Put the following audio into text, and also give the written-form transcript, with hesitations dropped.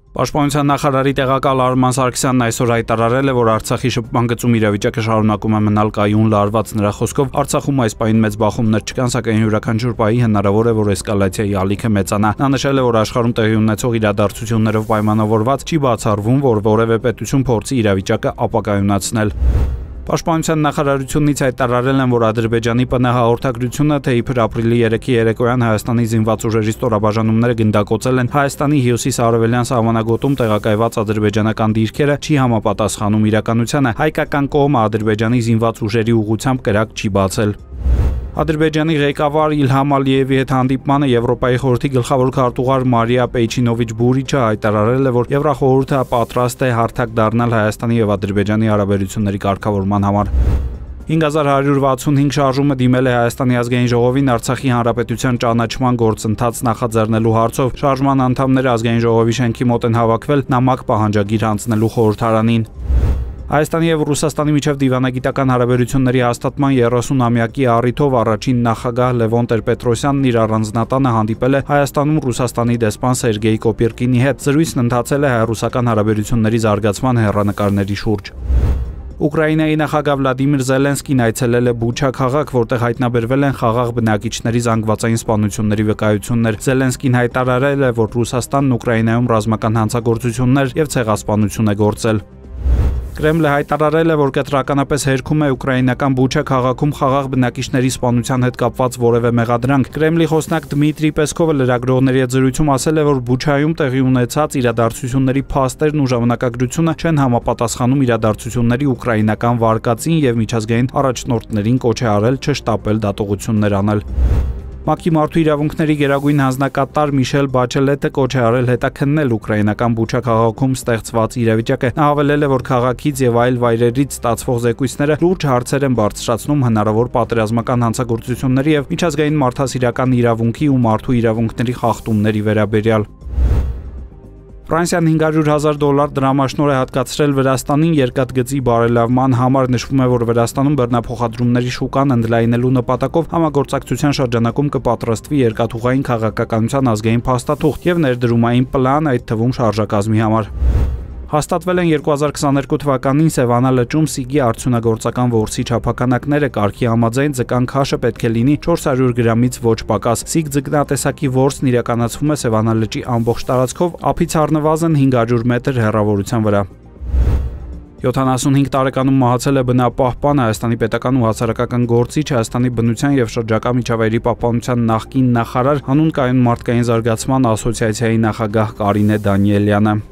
Պաշտպանության նախարարի տեղակալ Արման Սարգսյանն այսօր հայտարարել է, որ Արցախի շփման գծում իրավիճակը շարունակում է մնալ կայուն լարված։ Նրա խոսքով Արցախում այս պահին մեծ բախումներ չկան, սակայն յուրաքանչյուր պահի հնարավոր է, որ էսկալացիայի ալիքը մեծանա։ Նա նշել է, որ աշխարհում տեղի ունեցող իրադարձություններով պայմանավորված չի բացառվում, որ որևէ պետություն փորձի իրավիճակը ապակայունացնել։ Պաշտպանության նախարարությունից հայտարարել են, որ Ադրբեջանի ՊՆՀ հաղորդագրությունը, թե իբր ապրիլի 3-ի երեկոյան Հայաստանի զինված ուժերի ստորաբաժանումները գնդակոծել են Հայաստանի հյուսիս-արևելյան սահմանագոտում տեղակայված ադրբեջանական դիրքերը, չի համապատասխանում իրականությանը։ Հայկական կողմը Ադրբեջանի զինված ուժերի ուղղությամբ կրակ չի բացել։ Ադրբեջանի ղեկավար Իլհամ Ալիևի հետ հանդիպմանը Եվրոպայի խորհրդի գլխավոր քարտուղար Մարիա Պեյչինովիչ-Բուրիչը հայտարարել է, որ Եվրախորհուրդը պատրաստ է հարթակ դառնալ Հայաստանի եւ Ադրբեջանի հարաբերությունների կարգավորման համար։ 5165 շարժումը դիմել է Հայաստանի ազգային ժողովին Արցախի հանրապետության ճանաչման գործընթաց նախաձեռնելու հարցով։ Շարժման անդամները ազգային ժողովի շենքի մոտ են հավաքվել նամակ պահանջագիր հանձնելու խորհրդարանին։ Հայաստանի եւ Ռուսաստանի միջև դիվանագիտական հարաբերությունների հաստատման 30-ամյակի առիթով առաջին նախագահ Լևոն Տեր-Պետրոսյանն իր առանձնատանը հանդիպել է Հայաստանում Ռուսաստանի դեսպան Սերգեյ Կոպիրկինի հետ։ Զրույցն ընթացել է հայ-ռուսական հարաբերությունների զարգացման հեռանկարների շուրջ։ Ուկրաինայի նախագահ Վլադիմիր Զելենսկին այցելել է Բուչա քաղաք, որտեղ հայտնաբերվել են խաղաղ բնակիչների զանգվածային սպանությունների վկայություններ։ Զելենսկին հայտարարել է, որ Ռուսաստանն Ուկրաինայում ռազմական հանցագործություններ եւ ցեղասպանություն է գործել։ Կրեմլը հայտարարել է, որ կտրականապես հերքում է ուկրաինական Բուչա քաղաքում խաղաղ բնակիչների սպանության հետ կապված որևէ մեղադրանք։ Կրեմլի խոսնակ Դմիտրի Պեսկովը լրագրողների հետ զրույցում ասել է, որ Բուչայում տեղի ունեցած իրադարձությունների փաստերն ու ժամանակագրությունը չեն համապատասխանում իրադարձությունների ուկրաինական վարկածին եւ միջազգային առաջնորդներին կոչ է արել չշտապել դատողություններ անել։ ՄԱԿ-ի մարդու իրավունքների գերագույն հանձնակատար Միշել Բաչելետը կոչ է արել հետաքննել ուկրաինական Բուչա քաղաքում ստեղծված իրավիճակը։ Նա հավելել է, որ քաղաքից եւ այլ վայրերից ստացվող զեկույցները լուրջ հարցեր են բարձրացնում հնարավոր պատերազմական հանցագործությունների եւ միջազգային մարդասիրական իրավունքի ու մարդու իրավունքների խախտումների վերաբերյալ։ Ֆրանսիան $500,000 դրամաշնոր է հատկացրել Վրաստանին երկաթգծի բարելավման համար։ Նշվում է, որ Վրաստանում բեռնափոխադրումների շուկան ընդլայնելու նպատակով համագործակցության շրջանակում կպատրաստվի երկաթուղային քաղաքականության ազգային փաստաթուղթ եւ ներդրումային պլան, այդ թվում շարժակազմի համար։ Հաստատվել են 2022 թվականին Սևանա լճում սիգի արդյունագործական որսի չափականակները։ Կարգի համաձայն ձկան քաշը պետք է լինի 400 գրամից ոչ պակաս։ Սիգ ձկնատեսակի որսն իրականացվում է Սևանա լճի ամբողջ տարածքով, ափից առնվազն 500 մետր հեռավորության վրա։ 75 տարեկանում մահացել է բնապահպան, Հայաստանի պետական ու հասարակական գործիչ, Հայաստանի բնության եւ շրջակա միջավայրի պահպանության նախկին նախարար, հանուն կայուն մարդկային զարգացման ասոցիացիայի նախագահ Կարինե Դանիելյանը։